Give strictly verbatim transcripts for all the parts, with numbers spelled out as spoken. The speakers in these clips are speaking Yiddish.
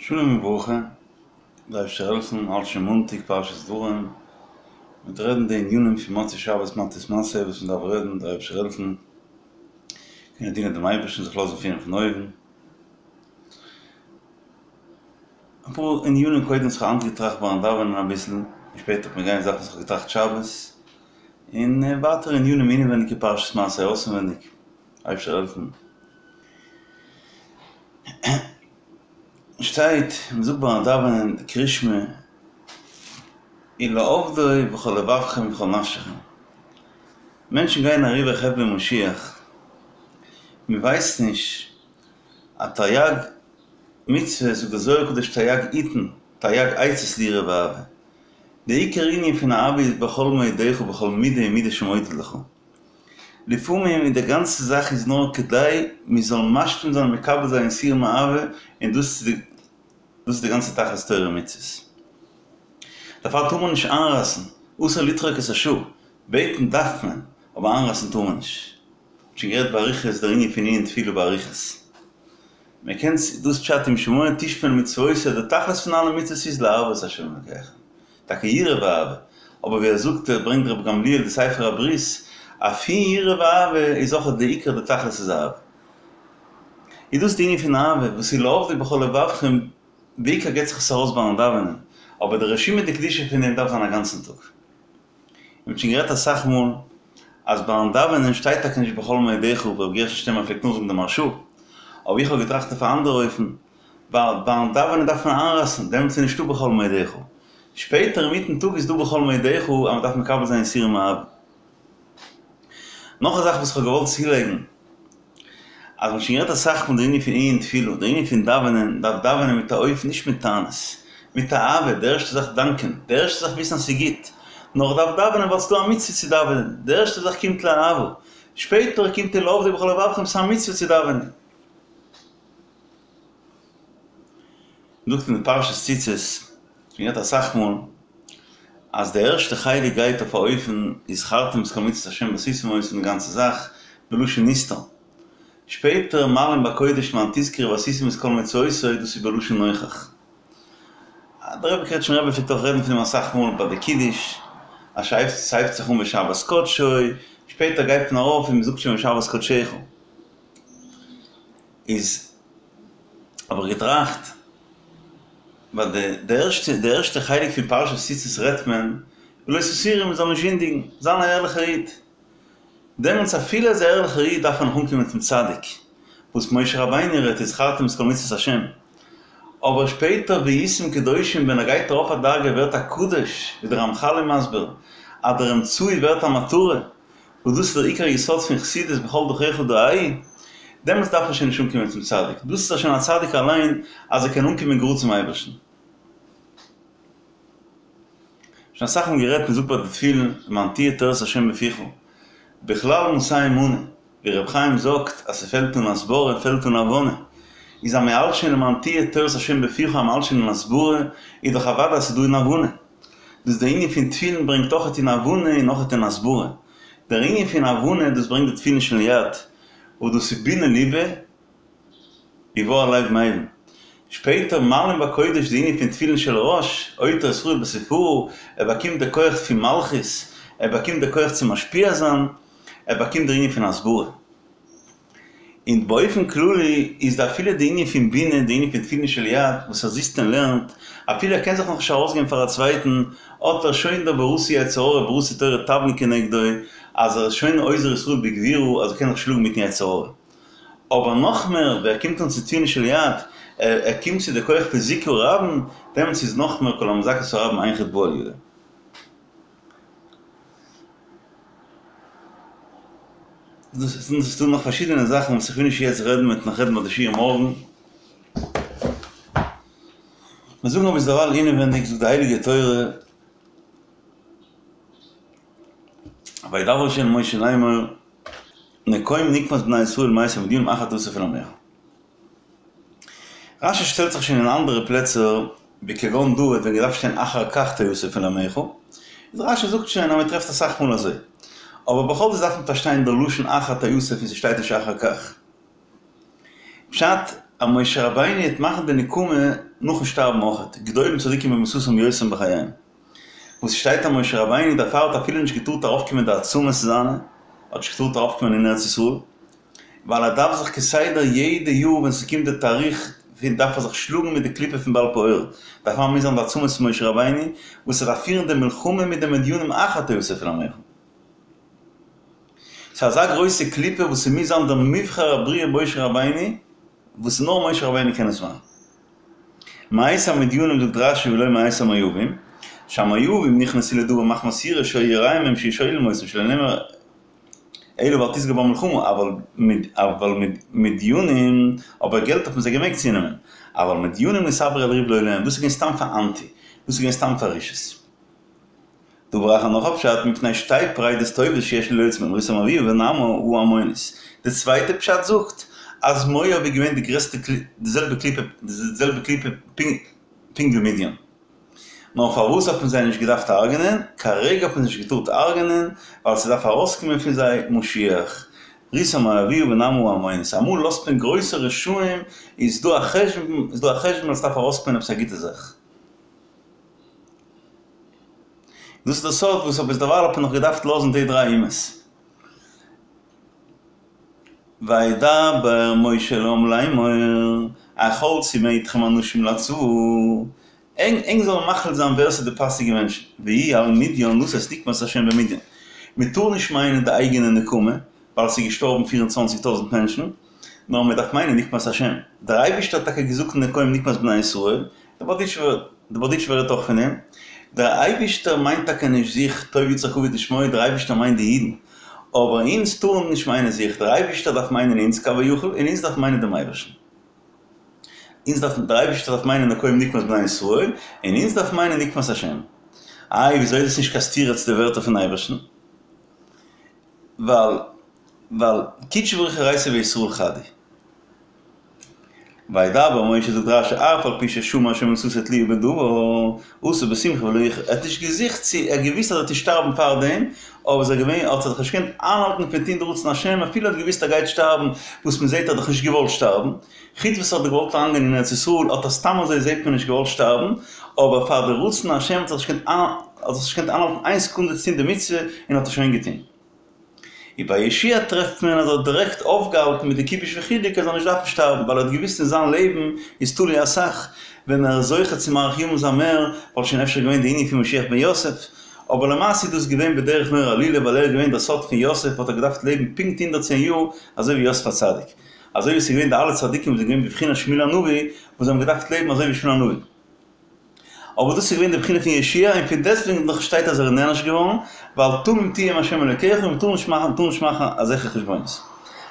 שלום וברכה, דער אייבערשטער זאל העלפן, האלט שוין מאנטאג פרשת דברים, מ'וועט רעדן די ענינים פון מוצאי שבת מטות מסעי וואס מ'דארף רעדן, דער אייבערשטער זאל העלפן, קענען דינען דעם אייבערשטן, זיך לאזן פירן פון אויבן. אפאר ענינים קודם וואס כ'האב היינט געטראכט ביים דאווענען אביסל, און שפעטער וועט מען גיין זאכן וואס כ'האב געטראכט שבת, און ווייטער ענינים אינעווייניג אין פרשת מסעי אויסענווייניג, אייבערשטער זאל העלפן. שטייט, מען זאגט ביים דאווענען קריאת שמע, ולעבדו בכל לבבכם ובכל נפשכם. מענטשן גייען אריבער חבלי משיח, מען ווייסט נישט אז תריג מצוות, זאגט דער זוהר הקדוש תריג עיתין, תריג עצות ליראה ואהבה. די עיקר ענין פון אהבה איז בכל מאודך ובכל מידה ומידה שמודד לך. לפעמים איז די גאנצע זאך איז נאר כדי מען זאל משלים זיין און מקבל זיין יסורים מאהבה, און דאס איז דאס איז די גאנצע תכלית תורה ומצוות. דערפאר טאר מען נישט איינרייסן, אסור לדחוק את השעה, בעטן דארף מען, אבער איינרייסן טאר מען נישט. מ'האט שוין גערעדט באריכות דער ענין פון ענין תפילה באריכות. מען קען דאס פשט אם שמוע תשמעון למצותי, די תכלית פון אלע מצוות איז לאהבה את ה' אלקיכם. טאקע יראה ואהבה, אבער ווי ער זאגט ער ברענגט רבי גמליאל די ספר הברית, אז פון יראה ואהבה איז אויך די עיקר די תכלית איז אהבה. איז דאס די ענין פון אהבה וואס איז לעבדו בכל לבבכם, בעיקר געבט זיך עס ארויס ביים דאווענען, אבער די רשימה דקדושה פון דעם דארף זיין א גאנצן טאג. מען האט שוין גערעדט אסאך מאל אז ביים דאווענען שטייט טאקע נישט בכל מאודך, ווי רבי גרשון שטערנבוך פלעגט נאכזאגן די מהרש"א, אבער איך האב געטראכט אויף א אנדערע אופן, ווייל ביים דאווענען דארף מען איינרייסן, דעמאלטס איז נישטא בכל מאודך. שפעטער אינמיטן טאג איז דא בכל מאודך אז מען דארף מקבל זיין יסורים מאהבה. נאך א זאך וואס איך האב געוואלט צולייגן, אז מ'האט שוין גערעדט אסאך פון די ענין פון עיון תפילה, די ענין פון דאווענען, מ'דארף דאווענען מיט א אופן, נישט מיט טענות, מיט אהבה, די ערשטע זאך דאנקען, די ערשטע זאך וויסן אז ס'איז גוט, נאר איך דארף דאווענען ווייל ס'איז דא א מצוה צו דאווענען, די ערשטע זאך קומט לאהבה, שפעטער קומט ולעבדו בכל לבבכם, ס'איז א מצוה צו דאווענען. זאגט אין די פרשת ציצית, שוין גערעדט אסאך מאל, אז די ערשטע חלק גייט אויף א אופן וזכרתם את כל מצות השם ועשיתם אותם די גאנצע זאך בלשון נסתר, שפעטער מעלין בקודש למען תזכרו ועשיתם את כל מצותי דאס איז בלשון נוכח. דער רבי קרעטשמער רבי פלעגט אויך רעדן פון דעם אסאך מאל ביי די קידוש, אז ס'הייבט זיך אן בשבת קדשו, שפעטער גייט מען ארויף און מ'זאגט שוין בשבת קדשך. איז האב איך געטראכט, ווייל די די ערשטע די ערשטע חלק פון פרשת ציצית רעדט מען ולא תתורו מען זאל נישט זינדיגן, זיין א ערליכער איד. דעמאלטס אפילו אז א ערליכער איד דארף מען נאך אנקומען צום צדיק, וואס משה רבינו רעדט וזכרתם את כל מצוות השם. אבער שפעטער והייתם קדושים ווען ער גייט ארויף א דרגה ווערט א קדוש, ווי דער רמחל איז מסביר אז דער אמצעי ווערט א מטרה, וואס דאס איז דער עיקר יסוד פון חסידות בכל דרכיך דעהו, דעמאלטס דארף ער שוין נישט אנקומען צום צדיק, דאס איז שוין א צדיק אליין אז ער קען אנקומען גראד צום אייבערשטן. שוין אסאך מאל גערעדט, מען זאגט ביי די תפילין, למען תהיה תורת ה' בפיך, בכלל מאתים מנה, ווי ר' חיים זאגט אז ס'פעלט אן הסברה פעלט אן הבנה, איז אז מ'האלט שוין למען תהיה תורת ה' בפיך אז מ'האלט שוין אין הסברה, איז דאך אוודאי אז ס'איז דא אין הבנה. דאס דער ענין פון תפילין ברענגט אויכעט אין הבנה און אויכעט אין הסברה. דער ענין פון הבנה דאס ברענגט די תפילין של יד, וואס דאס איז בינה ליבא ובר לב מבין. שפעטער מעלין בקודש די ענין פון תפילין של ראש, עוטר ישראל בתפארה, ער באקומט די כח פון מלכות, ער באקומט די כח צו משפיע זיין, ער באקומט דער ענין פון הסברה. און באופן כללי איז די אפילו די ענין פון בינה, די ענין פון תפילין של יד, וואס ער זיצט און לערנט, אפילו ער קען זיך נאכנישט ארויסגעבן פאר א צווייטן, האט ער שוין דער בראתי יצר הרע בראתי תורה תבלין כנגדו, אז ער איז שוין אוזר ישראל בגבורה אז ער קען זיך שלאגן מיטן יצר הרע. אבער נאכמער, ווען ער קומט אן צו תפילין של יד, ער קומט צו די כח פון זיכוי רבים, דעמאלטס איז נאכמער כל המזכה את הרבים אין חטא בא על ידו. דאס איז דא נאך פארשידענע זאכן וואס איך וויל נישט יעצט רעדן מ'וועט נאך רעדן ביי די שיעור מארגן. מיר זאגן אבער דערווייל אינעווענדיג זאגט די הייליגע תורה וידבר ה' אל משה לאמור נקום נקמת בני ישראל מאת המדינים אחר תאסף אל עמיך. רשי שטעלט זיך שוין אין אנדערע פלעצער בכגון דא האט ווען געדארפט שטיין אחר כך תאסף אל עמיך, איז רשי זאגט שוין אז מען טרעפט אסאך מאל אזוי, אבער בכל זאת דארף מען פארשטיין דער לשון אחר תאסף און ס'שטייט נישט אחר כך. פשט, אז משה רבינו העט מאכן די נקמה נאכן שטארבן אויכעט, גדולים צדיקים במיתתם יותר מבחייהם. וואס שטייט אז משה רבינו דערפאר האט אפילו נישט געטארט ארויפקומען די עצמות זיינע, האט נישט געטארט ארויפקומען אין ארץ ישראל, ווייל ער דארף זיך כסדר יעדע יאר ווען ס'קומט די תאריך פון דארף ער זיך שלאגן מיט די קליפה פון בעל פעור, דערפאר מוז זיין די עצמות פון משה רבינו וואס ער דארף פירן די מלחמה מיט די מדינים אחר תאסף אל עמך. ס'איז אזא גרויסע קליפה וואס ס'מוז זיין דער מובחר הבריאה משה רבינו, וואס נאר משה רבינו קען עס מאכן. מאת המדינים זאגט רשי ולא מאת המואבים, שהמואבים נכנסו לדבר מחמת יראה שהיו יראים מהם שיהיו שוללים אותם שלא נאמר אלא ואל תשגר במלחמה, אבל מדינים, אבער געלט האט מען זיי געמעגט צונעמען, אבל מדינים נתעברו על ריב לא להם, דאס איז געווען סתם פאר אנטי, דאס איז געווען סתם פאר רשעות. דבר אחר נאך א פשט, מפני שתי פרידות טובות שיש לי להוציא מהם רות המואביה ונעמה העמונית. די צווייטע פשט זאגט אז מואב איז געווען די גרעסטע די זעלבע קליפה די זעלבע קליפה פונקט ווי מדין. נאר פארוואס האט מען זיי נישט געדארפט הרג'נען? כרגע האט מען זיי נישט געטארט הרג'נען ווייל ס'דארף ארויסקומען פון זיי משיח. רות המואביה ונעמה העמונית. אמאל לאזט מען גרויסע רשעים איז דא א חשבון איז דא א חשבון אז ס'דארף ארויסקומען עפעס א גוטע זאך. דאס איז דער סוד וואס אויף ביזדערווייל האט מען נאך געדארפט לאזן די דריי אומות. וידבר משה אל העם לאמור, החלצו מאתכם אנשים לצבא, ענק זאלן מחליט זיין ווער ס'איז די פאסיגע מענטשן, ויהי על מדין לתת נקמת ה' במדין. מ'טאר נישט מיינען די אייגענע נקמה, ווייל ס'איז געשטארבן פֿיר און צוואַנציק טויזנט מענטשן, נאר מ'דארף מיינען נקמת השם. דער אייבערשטער האט טאקע געזאגט נקום נקמת בני ישראל, דער בארדיטשובער רעדט אויך פון דעם, דער אייבערשטער מיינט טאקע נישט זיך, טוב יצחק אבי לשמוע, דער אייבערשטער מיינט די אידן, אבער אונז טארן נישט מיינען זיך, דער אייבערשטער דארף מיינען אונז כביכול, און אונז דארף מיינען דעם אייבערשטן. אונז דארף, דער אייבערשטער דארף מיינען נקום נקמת בני ישראל, און אונז דארף מיינען נקמת השם. איי וויאזוי איז דאס נישט קיין סתירה צו די ווערטער פון אייבערשטן? ווייל ווייל קודשא בריך הוא אורייתא וישראל חד הוא. וידבר משה זאגט רשי אף על פי ששמע שמיתתו תלויה בדבר עשה בשמחה ולא יחר ער האט נישט געזוכט צו ער האט געוויסט אז ער וועט נישט שטארבן פארדעם אבער איז ער געווען האט ער זיך נישט געקענט איינהאלטן פון טון די רצון השם אפילו ער האט געוויסט ער גייט שטארבן וואס מען זעט ער האט דאך נישט געוואלט שטארבן חוץ וואס ער האט געוואלט אריינגיין אין ארץ ישראל האט ער סתם אזוי זעט מען נישט געוואלט שטארבן אבער פאר די רצון השם האט ער זיך נישט געקענט האט זיך נישט געקענט איינהאלטן איין סעקונדע צו טון די מצוה און האט עס שוין געטון. און ביי יהושע טרעפט מען אז ער האט דירעקט אויפגעהאלטן מיט די כיבוש וחילוק ער זאל נישט דארפן שטארבן ווייל ער האט געוואוסט אין זיין לעבן איז תלוי אסאך, ווען ער איז זוכה צו מאריך ימים זיין מער וואלט שוין אפשר געווען די ענין פון משיח בן יוסף, אבער למעשה איז דאס געווען בדרך נורא עלילה ווייל ער איז געווען דער סוד פון יוסף האט ער געדארפט לעבן פונקט הונדערט צען יאר אזוי ווי יוסף הצדיק אזוי ווי עס איז געווען די אלע צדיקים וואס זענען געווען בבחינת שמואל הנביא וואס זיי האבן געדארפט לעבן אזוי ווי שמואל הנביא. אבער דאס איז געווען די בחינה פון יהושע און פון דעסטוועגן נאך שטייט אז ער איז נענש געווארן, ווייל תמים תהיה עם ה' אלוקיך און מ'טאר נישט מאכן טאר נישט מאכן אזעלכע חשבונות.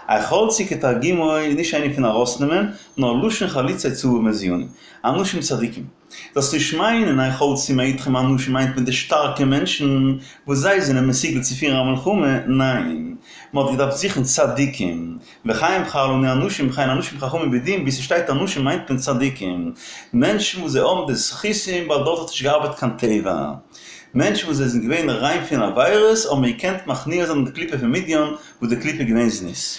החלצו כתרגומו איז נישט ענין פון ארויסנעמען, נאר לשון חלוצי צבא מזוינים, אנשים צדיקים. זאלסט נישט מיינען החלצו מאתכם אנשים מיינט מען די שטארקע מענטשן וואס זיי זענען מסוגל צו פירן א מלחמה, ניין, מען האט געדארפט זוכן צדיקים, וכן בחר לנו אנשים וכן אנשים חכמים ויודעים, ווי ס'שטייט אנשים מיינט מען צדיקים, מענטשן וואס זיי האבן די זכותים ווייל דארט האט נישט געארבעט קיין טבע, מענטשן וואס זיי זענען געווען ריין פון עבירות האבן געקענט מכניע זיין די קליפה פון מדין וואס די קליפה איז געווען זנות.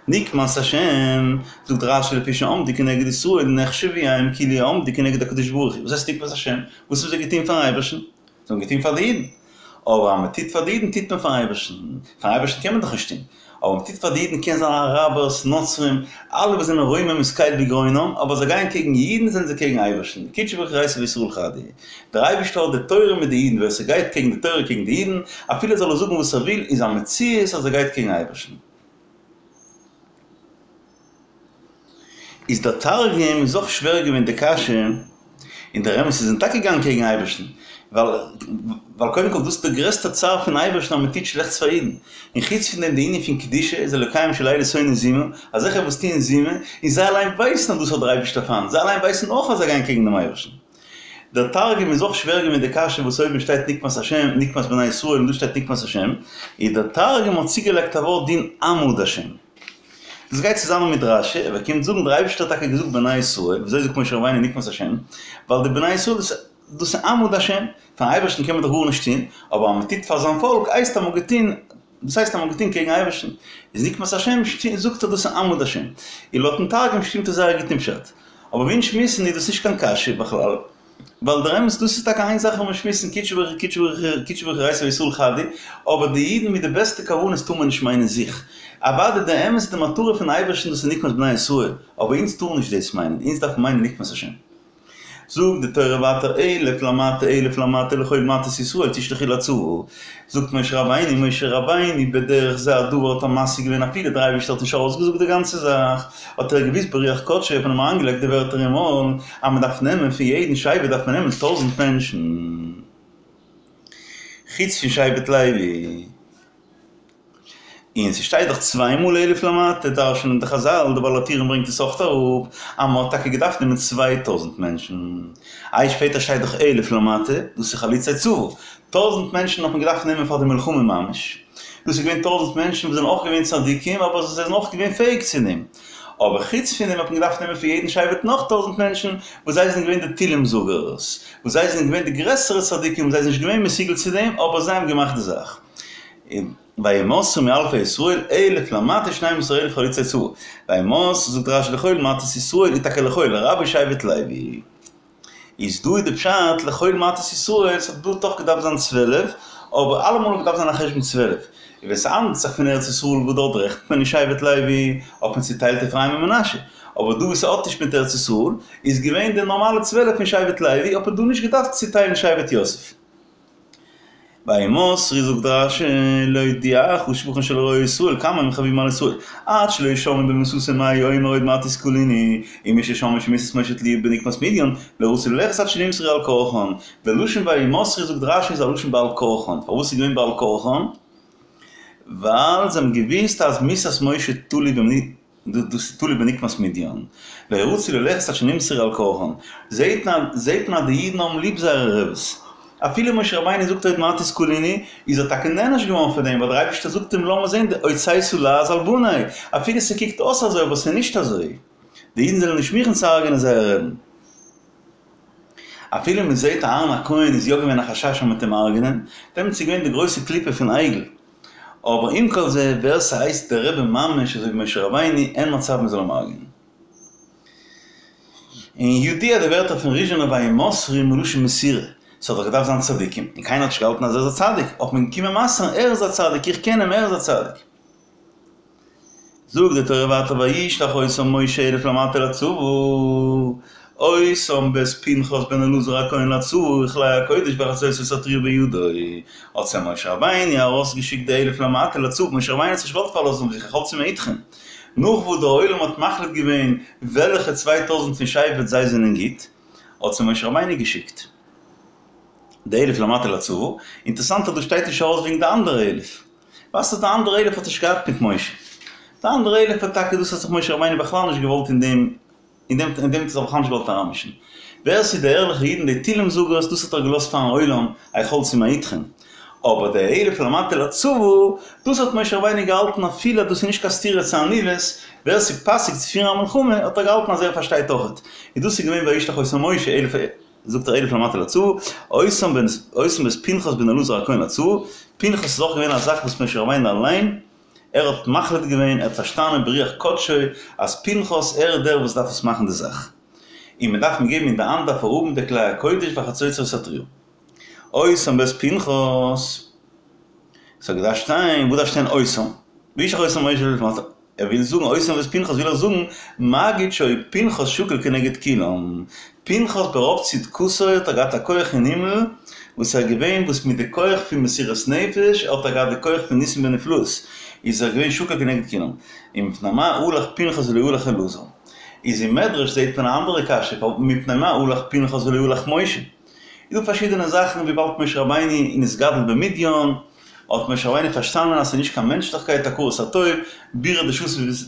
נקמת השם, זאגט רשי לפי שעמדו כנגד ישראל נחשבו הם כאילו עמדו כנגד הקדוש ברוך הוא, וואס הייסט נקמת השם? וואס האבן זיי געטון פארן אייבערשטן? זיי האבן געטון פאר די אידן. אבער אז מען טוט פאר די אידן טוט מען פארן אייבערשטן, פארן אייבערשטן קען מען דאך נישט טון, אבער מען טוט פאר די אידן קען זיין אראבערס, נוצרים, אלע וואס זענען רוממות קל בגרונם, אבער זיי גייען קעגן אידן זענען זיי קעגן אייבערשטן, קודשא בריך הוא אורייתא וישראל חד הוא, דער אייבערשטער האט די תורה מיט די אידן, ווער ס'גייט קעגן די תורה קעגן די אידן, אפילו זאל ער זאגן וואס ער וויל, איז א מציאות אז ער גייט קעגן אייבערשטן. איז דער תרגום איז אויך שווער געווען די קשיא, און דער אמת איז זיי זענען טאקע געגאנגען קעגן אייבערשטן, ווייל ווייל קודם כל דאס איז דער גרעסטער צער פון אייבערשטן אז מען טוט שלעכטס פאר אידן, און חוץ פון דעם די ענין פון קדושה איז אלוקיהם של אלו שונא זימה, אזעלכע וואס טוען זימה, און זיי אליין ווייסן אז דאס האט דער אייבערשטער פיינט, זיי אליין ווייסן אויך אז זיי גייען קעגן דעם אייבערשטן. דער תרגום איז אויך שווער געווען די קשיא וואס אויבן שטייט נקמת השם, נקמת בני ישראל און דא שטייט נקמת השם, איז דער תרגום האט צוגעלייגט א ווארט דין עמוד השם. דאס גייט צוזאמען מיט רשי, ער קומט זאגן דער אייבערשטער האט טאקע געזאגט בני ישראל, וויאזוי זאגט משה רבינו נקמת השם? ווייל די בני ישראל דאס דאס איז עמוד השם, פארן אייבערשטן קען מען דאך גארנישט טון, אבער אז מען טוט פאר זיין פאלק הייסט אז מען האט געטון דאס הייסט אז מ'האט געטון קעגן אייבערשטן, איז נקמת השם זאגט ער דאס איז עמוד השם, און לויטן תרגום שטימט עס זייער גוט אין פשט. אבער ווי אונז שמועסן איז דאס נישט קיין קשיא בכלל, ווייל דער אמת דאס איז טאקע איין זאך וואס מיר שמועסן קודשא בריך הוא קודשא בריך הוא קודשא בריך הוא אורייתא וישראל חד הוא, אבער די אידן מיט די בעסטע כוונות טאר מען נישט מיינען זיך. אוודאי די אמת די מטרה פון אייבערשטן דאס איז נקמת בני ישראל, אבער אונז טארן נישט דאס מיינען, אונז דארפן מיינען נקמת השם. זאגט די תורה ווייטער אלף למטה אלף למטה לכל מטות ישראל תשלחו לצבא, זאגט משה רבינו משה רבינו בדרך זה הדבר האט ער משיג געווען אפילו דער אייבערשטער האט נישט ארויסגעזאגט די גאנצע זאך, האט ער געוואוסט ברוח קדשו האט מען אים אריינגעלייגט די ווערטער אין מויל אז מען דארף נעמען פון יעדן שבט דארף מען נעמען טויזנט מענטשן חוץ פון שבט לוי. און ס'שטייט דאך צוויי מאל אלף למטה, דרש'נען די חזל, די בעל הטורים ברענגט עס אויך אראפ, אז מ'האט טאקע געדארפט נעמען צוויי טויזנט מענטשן. איי שפעטער שטייט דאך אלף למטה, דאס איז חלוצי צבא. טויזנט מענטשן האט מען געדארפט נעמען פאר די מלחמה ממש. דאס איז געווען טויזנט מענטשן וואס זענען אויך געווען צדיקים, אבער זיי זענען אויך געווען פעאיג צו דעם. אבער חוץ פון דעם האט מען געדארפט נעמען פון יעדן שבט נאך טויזנט מענטשן, וואס זיי זענען געווען די תהלים זאגערס, וואס זיי זענען געווען די גרעסערע צדיקים, זיי זענען נישט געווען מסוגל צו דעם, אבער זיי האבן געמאכט די זאך. וימסרו מאלפי ישראל אלף למטה שנים עשר אלף חלוצי צבא, וימסרו זאגט רשי לכל מטות ישראל איז טאקע לכל לרבות שבט לוי, איז דא איז די פשט לכל מטות ישראל ס'האט דא דאך געדארפט זיין צוועלף, אבער אלעמאל האט געדארפט זיין א חשבון צוועלף, און ווען ס'האנדלט זיך פון ארץ ישראל וואס דארט רעכנט מען נישט שבט לוי האט מען צוטיילט אפרים און מנשה, אבער דא וואס ס'האט נישט מיט ארץ ישראל איז געווען די נארמאלע צוועלף פון שבט לוי האט מען דא נישט געדארפט צוטיילן שבט יוסף. וימסרו זאגט רשי להודיעך שבחן של רועי ישראל כמה הם חביבים על ישראל עד שלא שמעו במיתתו מה הוא אומר עוד מעט וסקלוני ומששמעו שמיתת משה תלויה בנקמת מדיין לא רצו ללכת עד שנמסרו על כרחן די לשון וימסרו זאגט רשי איז א לשון בעל כרחן פארוואס איז געווען בעל כרחן ווייל זיי האבן געוויסט אז מיתת משה תלוי דאס איז תלוי בנקמת מדיין. לא רצו ללכת עד שנמסרו על כרחן. זעהט מען זעהט מען אז די אידן האבן ליב זייערע רעבעס. אפילו משה רבינו זאגט עוד מעט וסקלוני, איז ער טאקע נענש געווארן פאר דעם, ווייל דער אייבערשטער זאגט אים לאמיר זעהן די הוצאת לעז על בני, אפילו ס'קוקט אויס אזוי אבער ס'איז נישט אזוי. די אידן זענען נישט מוכן צו הרג'נען זייער רעבן. אפילו מען זעהט אהרן הכהן איז יא געווען א חשש אז מ'וועט אים הרג'נען, דעמאלטס איז געווען די גרויסע קליפה פון עגל. אבער עם כל זה, ווער ס'הייסט דער רבי ממש אזוי ווי משה רבינו, אין מצב מ'זאל אים הרג'נען. און ידוע די ווערטער פון ריזשינער וימסרו מלשון מסירה, ס'האט דאך געדארפט זיין צדיקים, און קיינער האט נישט געהאלטן אז ער איז א צדיק, האט מען געקומען מסר'ן ער איז א צדיק, איך קען אים, ער איז א צדיק. זאגט די תורה ווייטער וישלח אותם משה אלף למטה לצבא, אותם ואת פנחס בן אלעזר הכהן לצבא וכלי הקודש והחצוצרות התרועה בידו, האט זיי משה רבינו ארויסגעשיקט די אלף למטה לצבא, משה רבינו האט זיך נישט געוואלט פארלאזן אויף זיך החלצו מאתכם, נאך וואס דער עולם האט מחליט געווען וועלכע צוויי טויזנט פון שבט זיי זענען גוט, האט זיי משה רבינו געשיקט די אלף למטה לצבא, אינטערסאנט אז דא שטייט נישט ארויס וועגן די אנדערע אלף. ווייסט אז די אנדערע אלף האט נישט געהאט מיט משה. די אנדערע אלף האט טאקע דאס האט זיך משה רבינו בכלל נישט געוואלט אין דעם אין דעם אין דעם האט ער זיך בכלל נישט געוואלט אריינמישן. ווער ס'איז די ערליכע אידן די תהילים זאגערס דאס האט ער געלאזט פארן עולם החלצו מאתכם. אבער די אלף למטה לצבא דאס האט משה רבינו געהאלטן אפילו אז דאס איז נישט קיין סתירה צו עניוות, ווער ס'איז פאסיג צו פירן א מלחמה האט ער געהאלטן אז ער פארשטייט אויכעט. און דאס איז געווען וישלח אותם משה אלף זאגט ער אלף למטה לצבא, אותם אותם ואת פנחס בן אלעזר הכהן לצבא, פנחס איז אויך געווען א זאך וואס משה רבינו אליין, ער האט מחליט געווען, ער האט פארשטאנען ברוח קדשו אז פנחס ער איז דער וואס דארף עס מאכן די זאך, און מען דארף אים געבן אין די האנט דארף ער האבן די כלי הקודש והחצוצרות התרועה. אותם ואת פנחס, ס'האט געדארפט שטיין, וואס דארף שטיין אותם? וישלח אותם משה אלף למטה. ער וויל זאגן אותם ואת פנחס וויל ער זאגן מגיד שהיה פנחס שקול כנגד כולם, פנחס ברוב צדקותו האט ער געהאט א כח אין הימל וואס ער געווען וואס מיט די כח פון מסירות נפש האט ער געהאט די כח פון ניסים ונפלאות איז ער געווען שקול כנגד כולם, ומפני מה הלך פנחס ולא הלך אלעזר? איז אין מדרש זעהט מען א אנדערע קשיא מפני מה הלך פנחס ולא הלך משה? איז דא פארשידענע זאכן וויבאלד משה רבינו נתגדל במדין האט משה רבינו פארשטאנען אז ס'איז נישט קיין מענטשליכקייט הכרת הטוב, בירא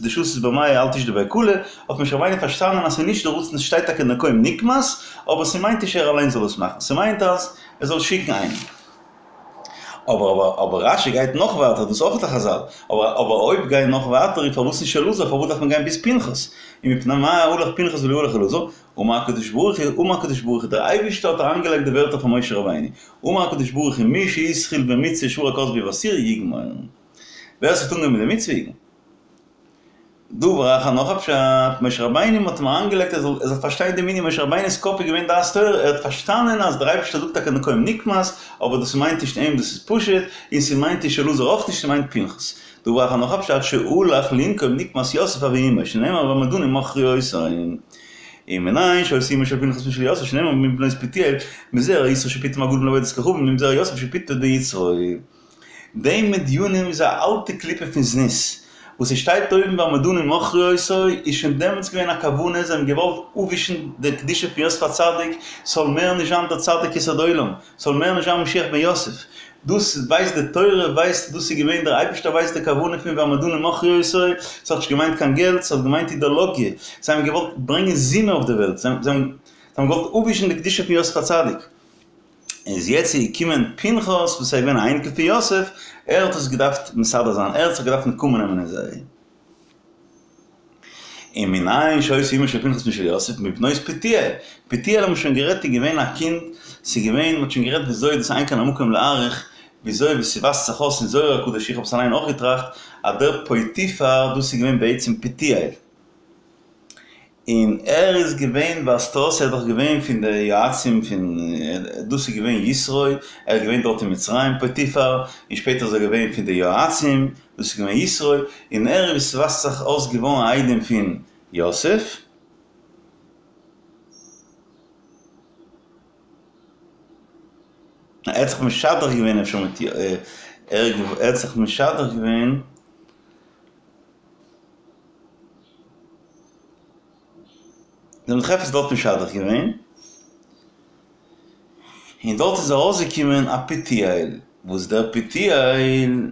דשתית במיא אל תשדי בי כלא, האט משה רבינו פארשטאנען אז ס'איז נישט די רצון ס'שטייט טאקע נקום נקמת, אבער ס'מיינט נישט ער אליין זאל עס מאכן, ס'מיינט אז ער זאל שיקן איינעם. אבער אבער אבער רשי גייט נאך ווייטער, דאס איז אויך א חזל, אבער אבער אויב גיין נאך ווייטער איז פארוואס נישט אלעזר, פארוואס דארף מען גיין ביז פנחס? ומפני מה הלך פנחס ולא הלך אלעזר? אמר הקדוש ברוך הוא, אמר הקדוש ברוך הוא, דער אייבערשטער האט אריינגעלייגט די ווערטער פאר משה רבינו, אמר הקדוש ברוך הוא, מי שהתחיל במצוה ושבר הכותבית באסור יגמור. ווער ס'האט אנגעהויבן מיט די מצוה איז דבר אחר נאך א פשט, משה רבינו מ'האט אים אריינגעלייגט ער זאל ער זאל פארשטיין דעם ענין, משה רבינו'ס קאפ איז געווען דעת תורה, ער האט פארשטאנען אז דער אייבערשטער זאגט טאקע נקום נקמת, אבער דאס מיינט נישט אים דאס איז פשוט, און ס'מיינט נישט אלעזר אויך נישט ס'מיינט פנחס. דבר אחר נאך א פשט, שהלך לנקום נקמת יוסף אבי אמו, שנאמר והמדנים מכרו אותו. ומנין שהיתה אמו של פנחס משל יוסף שנאמר מבנות פוטיאל, מזרע יתרו שפיטם הגדול לעבודת כוכבים ומזרע יוסף שפיטם ביצרו. די מדינים איז א אלטע קליפה פון זנות, וואס עס שטייט אויבן והמדנים מכרו אותו איז שוין דעמאלטס געווען א כוונה, זיי האבן געוואלט אפווישן די קדושה פון יוסף הצדיק, ס'זאל מער נישט זיין דער צדיק יסוד עולם, ס'זאל מער נישט זיין משיח בן יוסף. דאס ווייסט די תורה ווייסט דאס איז געווען דער אייבערשטער ווייסט די כוונה פון והמדנים מכרו אותו, ס'האט נישט געמיינט קיין געלט, ס'האט געמיינט אידעלאגיע, זיי האבן געוואלט ברענגען זימה אויף די וועלט, זיי האבן געוואלט אפווישן די קדושה פון יוסף הצדיק. איז יעצט איז געקומען פנחס וואס איז געווען א אייניקל פון יוסף, ער האט עס געדארפט מסדר זיין, ער האט זיך געדארפט נקמה נעמען אין זיי. ומנין שהיתה אמו של פנחס משל יוסף מבנות פוטיאל, פוטיאל האבן מיר שוין גערעדט איז געווען א קינד, ס'איז געווען, מ'האט שוין גערעדט וויאזוי דאס אין כאן המקום להאריך, וויאזוי ווי ס'ווייזט זיך אויס אין זוהר הקדוש, איך האב עס אליין אויך געטראכט, אז דער פוטיפר דאס איז געווען בעצם פוטיאל. און ער איז געווען ווייזט אויס ער איז דאך געווען פון די יועצים פון דאס איז געווען יתרו ער איז געווען דארט אין מצרים פוטיפר און שפעטער איז ער געווען פון די יועצים דאס איז געווען יתרו און ער איז ווי ס'ווייזט זיך אויס געווארן א איידעם פון יוסף. ער האט זיך משדך געווען אפשר מיט ער האט זיך משדך געווען. זיי האבן זיך עפעס דארט משדך געווען, און דארט איז ארויסגעקומען א פוטיאל, וואס דער פוטיאל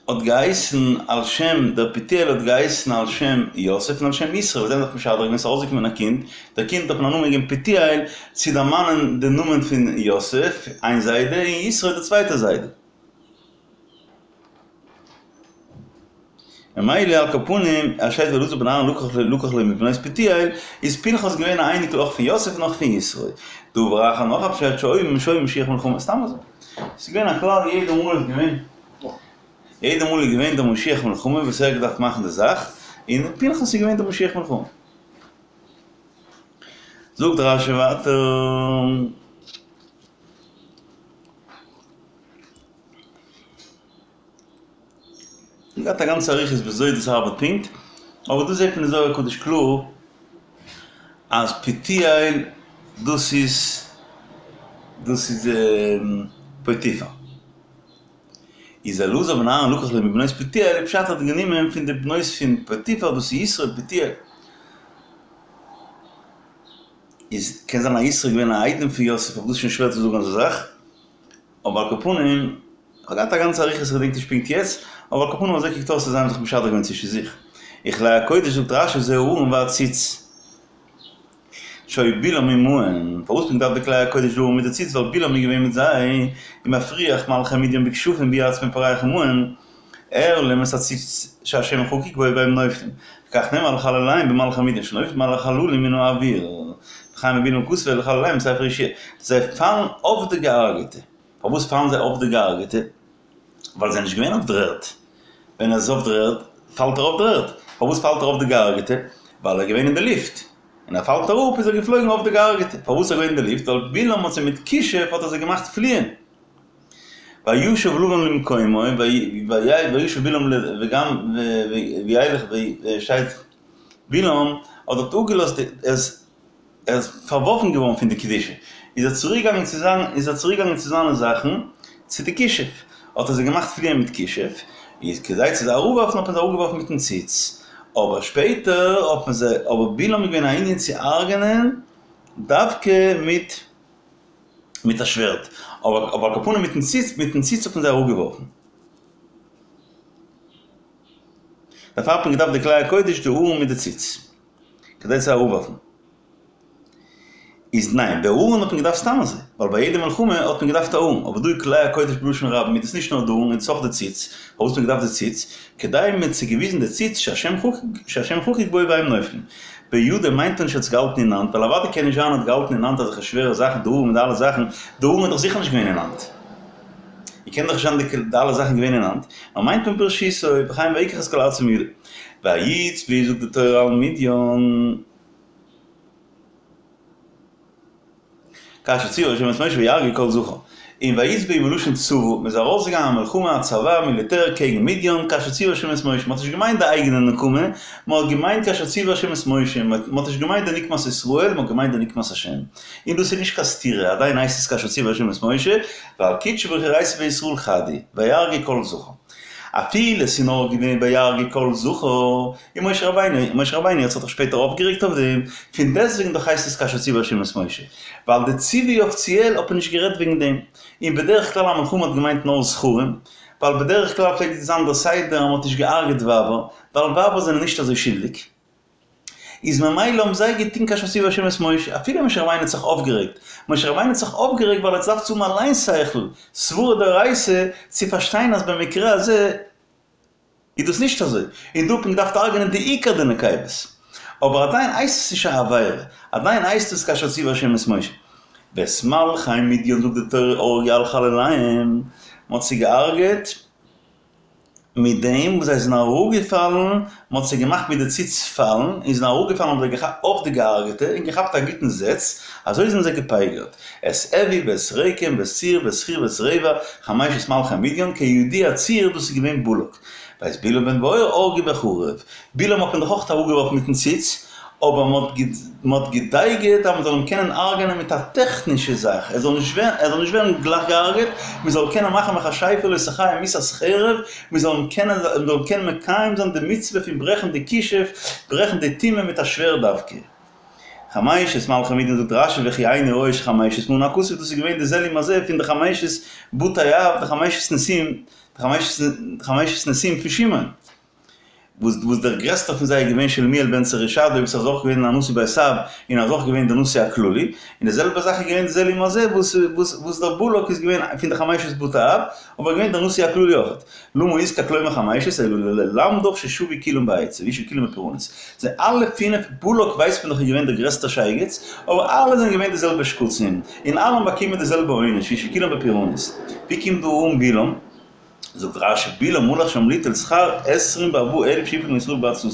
האט געהייסן על שם, דער פוטיאל האט געהייסן על שם יוסף און על שם יתרו, וואס זיי האבן זיך משדך געווען, ס'איז ארויסגעקומען א קינד, דער קינד האט מען א נאמען געגעבן פוטיאל, צו דערמאנען די נאמען פון יוסף, איין זיידע, און יתרו די צווייטע זיידע. ממילא על כל פנים, עס שטייט ואלעזר בן אהרן לקח לקח לו מבנות פוטיאל, איז פנחס געווען א אייניקל אויך פון יוסף און אויך פון יתרו. דבר אחר נאך א פשט שהיו שהיה משיח מלחמה, סתם אזוי. ס'איז געווען א כלל יעדע מאל איז געווען יעדע מאל איז געווען דער משיח מלחמה וואס ער האט געדארפט מאכן די זאך, און פנחס איז געווען דער משיח מלחמה. זאגט רשי ווייטער. געהאט א גאנצע אריכות וויאזוי דאס ארבעט פונקט, אבער דא זעט מען אין זוהר הקדוש קלאר אז פוטיאל דאס איז דאס איז פוטיפר. איז אלעזר בן אהרן לקח לו מבנות פוטיאל, פשט האט גענומען פון די בנות פון פוטיפר דאס איז יתרו פוטיאל. איז קען זיין אז יתרו איז געווען א איידעם פון יוסף אבער דאס איז שוין שווער צו זאגן אזא זאך. אבער על כל פנים, כ'האב געהאט א גאנצע אריכות כ'געדענק נישט פונקט יעצט, אבער על כל פנים אזוי קוקט אויס אז זיי האבן זיך משדך געווען צווישן זיך. וכלי הקודש זאגט רשי זה הארון והציץ. שהיה בלעם עמהן, פארוואס האט מען געדארפט די כלי הקודש די ארון מיט די ציץ ווייל בלעם איז געווען מיט זיי, ומפריח מלכי מדין בכשפים והוא עצמו פורח עמהן, הראה להם את הציץ שהשם חקוק בו והם נופלים, וכך נאמר לחלליהם במלכי מדין שנופלים על החללים מן האוויר, וכן בבלעם כתוב לחלליהם בספר יהושע, זיי פאלן אויף די געהארגעטע, פארוואס פאלן זיי אויף די געהארגעטע? ווייל זיי זענען נישט געווען אויף דער ערד, ווען ער איז אויף דער ערד פאלט ער אויף דער ערד, פארוואס פאלט ער אויף די געהארגעטע? ווייל ער איז געווען אין די לופט, און ער פאלט אראפ איז ער געפלויגן אויף די געהארגעטע, פארוואס איז ער געווען אין די לופט? ווייל בלעם האט זיי מיט כישוף האט ער זיי געמאכט פליען. וישב לבן למקומו, וישב בלעם וגם וילך שטייט בלעם האט דארט אפגעלאזט די ער איז פארווארפן געווארן פון די קדושה איז ער צוריק געגאנגען צו זיין איז ער צוריק געגאנגען צו זיינע זאכן צו די כישוף האט ער זיי געמאכט פליען מיט כישוף איז כדי צו זיי אראפווארפן האט מען זיי אראפגעווארפן מיטן ציץ אבער שפעטער האט מען זיי אבער בלעם איז געווען א ענין צו הרג'נען דווקא מיט מיט א שווערד, אבער אבער על כל פנים מיטן ציץ, מיטן ציץ האט מען זיי אראפגעווארפן. דערפאר האט מען געדארפט די כלי הקודש די ארון מיט די ציץ, כדי צו אראפווארפן. איז ניין, די ארון האט מען געדארפט סתם אזוי, ווייל ביי יעדע מלחמה האט מען געדארפט א ארון, אבער דא איז כלי הקודש בלשון רבים איז דאס נישט נאר די ארון, איז דאס אויך די ציץ, פארוואס האט מען געדארפט די ציץ? כדי מען האט זיי געוויזן די ציץ שהשם חקוק שהשם חקוק בו והם נופלים. בידו מיינט נישט ער האט עס געהאלטן אין האנט, ווייל אוודאי קען נישט זיין ער האט געהאלטן אין האנט אזעלכע שווערע זאכן די ארון מיט די אלע זאכן, די ארון איז דאך זיכער נישט געווען אין האנט. און קען דאך נישט זיין די אלע זאכן געווען אין האנט, נאר מיינט מען ברשותו, וכן ויקח את כל ארצו מידו. ויצבאו זאגט די תורה על מדין. כאשר ציווה השם את משה ויהרגו כל זכר. און ויצבאו מלשון צבא, מען איז ארויסגעגאנגען א מלחמה א צבא מיליטער קעגן מדין כאשר ציווה השם את משה, מען האט נישט געמיינט די אייגענע נקמה, מען האט געמיינט כאשר ציווה השם את משה, מען האט נישט געמיינט די נקמת ישראל, מען האט געמיינט די נקמת השם. און דאס איז נישט קיין סתירה, עדיין הייסט עס כאשר ציווה השם את משה, ווייל קודשא בריך הוא אורייתא וישראל חד הוא, ויהרגו כל זכר. אפילו עס איז נאר געווען ויהרגו כל זכר, און משה רבינו, משה רבינו האט זיך דאך שפעטער אויפגערעגט אויף דעם, פון דעסטוועגן דאך הייסט עס כאשר ציווה השם את משה, ווייל די ציווי אפיציעל האט מען נישט גערעדט וועגן דעם, און בדרך כלל א מלחמה האט געמיינט נאר זכרים, ווייל בדרך כלל פלעגט זיין דער סדר אז מען האט נישט געהארגעט ווייבער, ווייל ווייבער זענען נישט אזוי שולדיג. איז ממילא האבן זיי געטון כאשר ציווה השם את משה, אפילו משה רבינו האט זיך אויפגערעגט, משה רבינו האט זיך אויפגערעגט ווייל ער האט געדארפט צו האבן אליין שכל, סברא דאורייתא, צו פארשטיין אז במקרה הזה איז דאס נישט אזוי, און דא האט מען געדארפט הרג'נען די עיקר די נקבות. אבער עדיין הייסט עס נישט א עבירה, עדיין הייסט עס כאשר ציווה השם את משה. ואת מלכי מדין זאגט די תורה הרגו על חלליהם, מען האט זיי געהארגעט, מיט דעם וואס זיי זענען אראפגעפאלן, מען האט זיי געמאכט מיט די ציץ פאלן, און זענען אראפגעפאלן האבן זיי געכאפט אויף די געהארגעטע און געכאפט א גוטן זעץ, אזוי זענען זיי געפייגערט. את אוי ואת רקם ואת צור ואת חור ואת רבע, חמשת מלכי מדין, כידוע צור דאס איז געווען בלק. ואת בלעם בן בעור הרגו בחרב, בלעם האט מען דאך אויך אראפגעווארפן מיטן ציץ, אבער מען האט געדייגעט אז מען זאל אים קענען הרג'ענען מיט א טעכנישע זאך, ער זאל נישט ווערן, ער זאל נישט ווערן גלייך געהארגעט, מען זאל קענען מאכן מכשפה לא תחיה מיתת חרב, מען זאל אים קענען, מען זאל קענען מקיים זיין די מצוה פון ברעכן די כישוף, ברעכן די טומאה מיט א שווערד דווקא. חמשת מלכי מדין זאגט רשי וכי איני רואה שחמשת מנה הכתוב, דאס איז געווען די זה לעומת זה פון די חמשת בתי אב, די חמשת נשיאים, די חמשת נשיאים פון שמעון. וואס וואס דער גרעסטער פון זיי איז געווען שלומיאל בן צורישדי וואס איז אויך געווען א נשיא בית אב און איז אויך געווען דער נשיא הכללי, און די זעלבע זאך איז געווען די זה לעומת זה וואס וואס וואס דער בלק איז געווען פון די חמשת בתי אב אבער געווען דער נשיא הכללי אויך. למה הוזכר כלומר חמשת אלא ללמדך ששבו כולם בעצה וישבו כולם בפורענות. זיי אלע פינף, בלק ווייסט מען דאך איז געווען דער גרעסטער שייגעץ, אבער אלע זענען געווען די זעלבע שקצים, און אלע האבן באקומען די זעלבע עונש וישבו כולם בפורענות. ווי קומט דא אן בלעם? זאגט רשי, בלעם הלך שם ליטול שכר עשרים וארבעה אלף שהפיל מישראל בעצתו,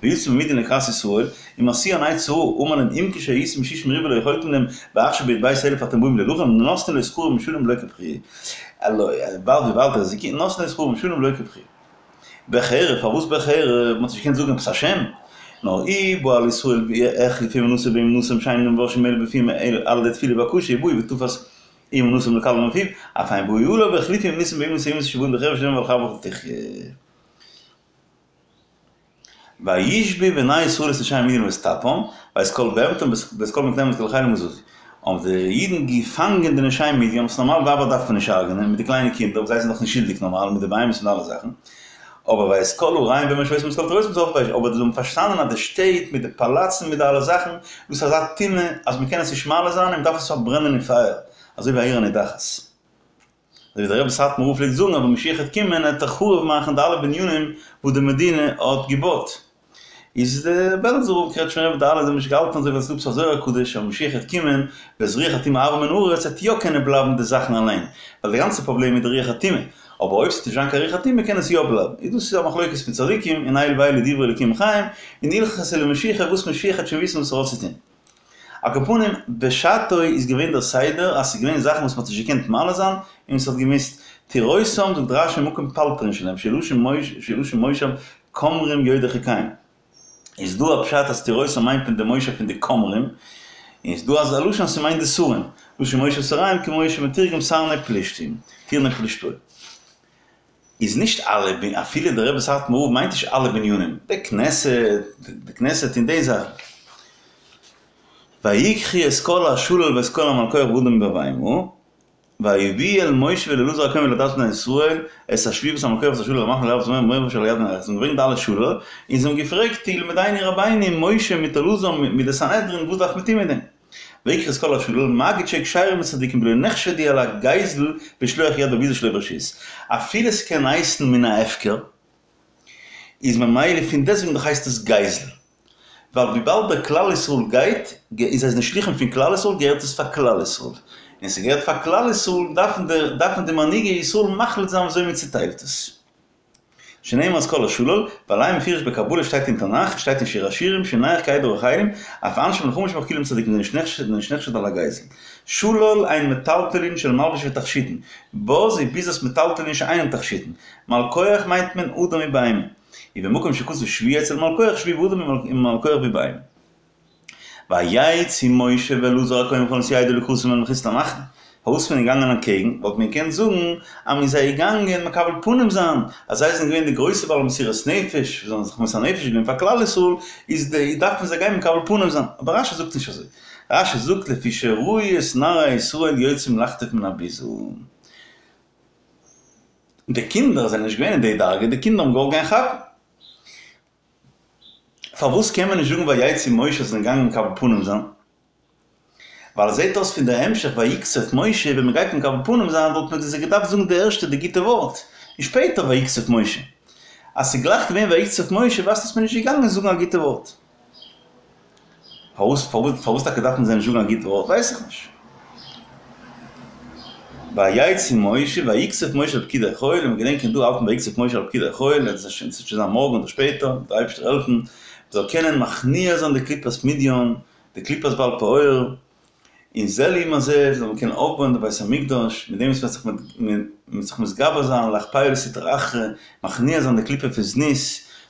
ויצא ממדין לקראת ישראל, ומשיאן עצה רעה, אמר להם אם כשהייתם ששים ריבוא לא יכולתם להם, ועכשיו בהרבות אלף אתם באים להילחם, נתנו לו שכרו משלם ולא כבכירי. וויבאלד וויבאלד ער איז געקומען נתנו לו שכרו משלם ולא כבכירי. בחרב, פארוואס בחרב? מ'האט נישט געקענט זאגן עפעס א שם. נאר אי בא על ישראל והחליפו אמונתם באמונתם שאינם מבקשים אלא בפיהם על ידי תפילה ובקשה ובאו ותפס אומנותם לקבלם מפיו, אף הם באו עליו והחליפו אמונתם באמונת האומות שבאו בחרב שנאמר ועל חרבך תחיה. וישבו בני ישראל את נשי מדין ואת טפם, ואת כל בהמתם ואת כל מקניהם ואת כל חילם בזזו. האבן די אידן געפאנגען די נשי מדין, וואס נארמאל ווייבער דארף מען נישט הרג'נען, מיט די קליינע קינדער וואס זיי זענען דאך נישט שולדיג נארמאל, מיט די בהמות און אלע זאכן, אבער ואת כל עריהם ומושבותם ואת כל תורתם שרפו באש, אבער זיי האבן פארשטאנען אז די שטעט מיט די פאלאצן מיט די אלע זאכן, דאס איז אזא טומאה אז מען קען עס נישט מעלה זיין און מען דארף עס פארברענען אין פייער, אזוי ווי א עיר הנידחת. אזוי ווי דער רבי סאטמאר רב פלעגט זאגן אז ווען משיח וועט קומען וועט ער חרוב מאכן די אלע בנינים וואס די מדינה האט געבויט. איז די בעלזער רב, קרעטשמער רב, די אלע זיי האבן נישט געהאלטן אזוי ווייל ס'איז דא עפעס א זוהר הקדוש אז משיח וועט קומען ואת רוח הטומאה אעביר מן הארץ וועט יא קענען בלייבן די זאכן אליין ווייל די גאנצע פראבלעם איז די רוח הטומאה אבער אויב ס'וועט נישט זיין קיין רוח הטומאה קען עס יא בלייבן איז דאס איז א מחלוקת פון צדיקים און אלו ואלו דברי אלוקים חיים און הלכתא למשיחא וואס משיח וועט שוין וויסן וואס ער האט צו טון. על כל פנים בשעתו איז געווען דער סדר אז ס'איז געווען זאכן וואס מ'האט נישט געקענט מעלה זיין און ס'האט געמוזט תירותם זאגט רשי מקום פלטרין שלהם שהוא לשון מושב כמרים יודעי חוקיהם. איז דא א פשט אז תירותם מיינט מען די מושב פון די כמרים, און איז דא אזא לשון אז ס'מיינט די שרים, לשון מושב שריהם כמו שמתורגם סרני פלשתים, טירני פלשתאה. איז נישט אלע, אפילו דער רבי סאטמאר רב מיינט נישט אלע בנינים, די כנסת, די כנסת און די זאכן. ויקחו את כל השלל ואת כל המלקוח באדם ובבהמה. ויביאו אל משה ואל אלעזר הכהן ואל עדת בני ישראל את השבויים ואת המלקוח ואת השלל אל המחנה אל ערבות מואב אשר על ירדן זיי האבן געברענגט די אלע שלל און זיי האבן געפרעגט ילמדנו רבינו משה מיט אלעזר מיט די סנהדרין וואס דארף מען טון מיט דעם ויקחו את כל השלל מגיד שיהו כשרים לצדיקים ולא נחשדו על הגזל ושלוח יד בביזה שלא ברשות אפילו ס'קען הייסן מן ההפקר איז ממילא פון דעסוועגן דאך הייסט עס גזל ווייל וויבאלד דער כלל ישראל גייט, איז זיי זענען שליחים פון כלל ישראל געהערט עס פאר כלל ישראל, און ס'געהערט פאר כלל ישראל, דארפן די דארפן די מנהיגי ישראל מחליט זיין וויאזוי מען צוטיילט עס. שנאמר את כל השלל, ועליהם מפורש בקבלה שטייט אין תנך, שטייט אין שיר השירים, שנייך כעדר החיילים, אף אנשי מלחמה שמחכילים צדיקים זענען נישט נחשד על הגזל. שלל הן מטלטלין של מלבוש ותכשיטין, בוז וביזת מטלטלין שאינם תכשיטין. מלכוח מיינט מען אדם ובהמה. ובמקום שכתוב שבי אצל מלכוח שבי באדם ומלכוח בבהמה. ויצאו משה ואלעזר הכהן וכל נשיאי העדה לקראתם אל מחוץ למחנה. פארוואס איז מען געגאנגען אנטקעגן? וואלט מען געקענט זאגן אז מען איז זיי געגאנגען מקבל פנים זיין, אז זיי זענען געווען די גרויסע בעלי מסירות נפש, זיי האבן זיך מוסר נפש געווען פאר כלל ישראל, איז די דארף מען זיי גיין מקבל פנים זיין. אבער רשי זאגט נישט אזוי. רשי זאגט לפי שראו את נערי ישראל יוצאים לחטוף מן הביזה. די קינדער זענען נישט געווען אין די דרגה, די קינדער האבן געוואלט גיין כאפן. פארוואס קען מען נישט זאגן ויצא משה זיי זענען געגאנגען מקבל פנים זיין? ווייל עס זעט אויס פון די המשך ויקצוף משה ווען מען גייט מקבל פנים זיין וואלט מען זיי געדארפט זאגן די ערשטע די גוטע ווארט און שפעטער ויקצוף משה. אז ס'איז גלייך געווען ויקצוף משה ווייזט אויס מען איז נישט געגאנגען זאגן א גוטע ווארט. פארוואס פארוואס טאקע דארף מען זיי נישט זאגן א גוט ווארט ווייס איך נישט. ויצא משה ויקצוף משה על פקודי חיל, און מיר געדענקען דא האלט מען ויקצוף משה על פקודי חיל, עס וועט שוין זיין מארגן אדער שפעטער, דער אייבערשטער העלפן מען זאל קענען מכניע זיין די קליפת מדיון, די קליפת בעל פעור, און זה לעומת זה זאל מען קענען אויפבויען די בית המקדש, מיט דעם וואס מען וועט זיך מתגבר זיין לאכפיא לסטרא אחרא, מכניע זיין די קליפה פון זנות,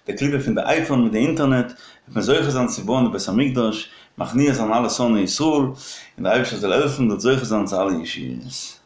די קליפה פון די אייפאון מיט די אינטערנעט, וועט מען זוכה זיין צו בויען די בית המקדש, מכניע זיין אלע שונאי ישראל, און דער אייבערשטער זאל העלפן מ'זאל זוכה זיין צו אלע ישועות.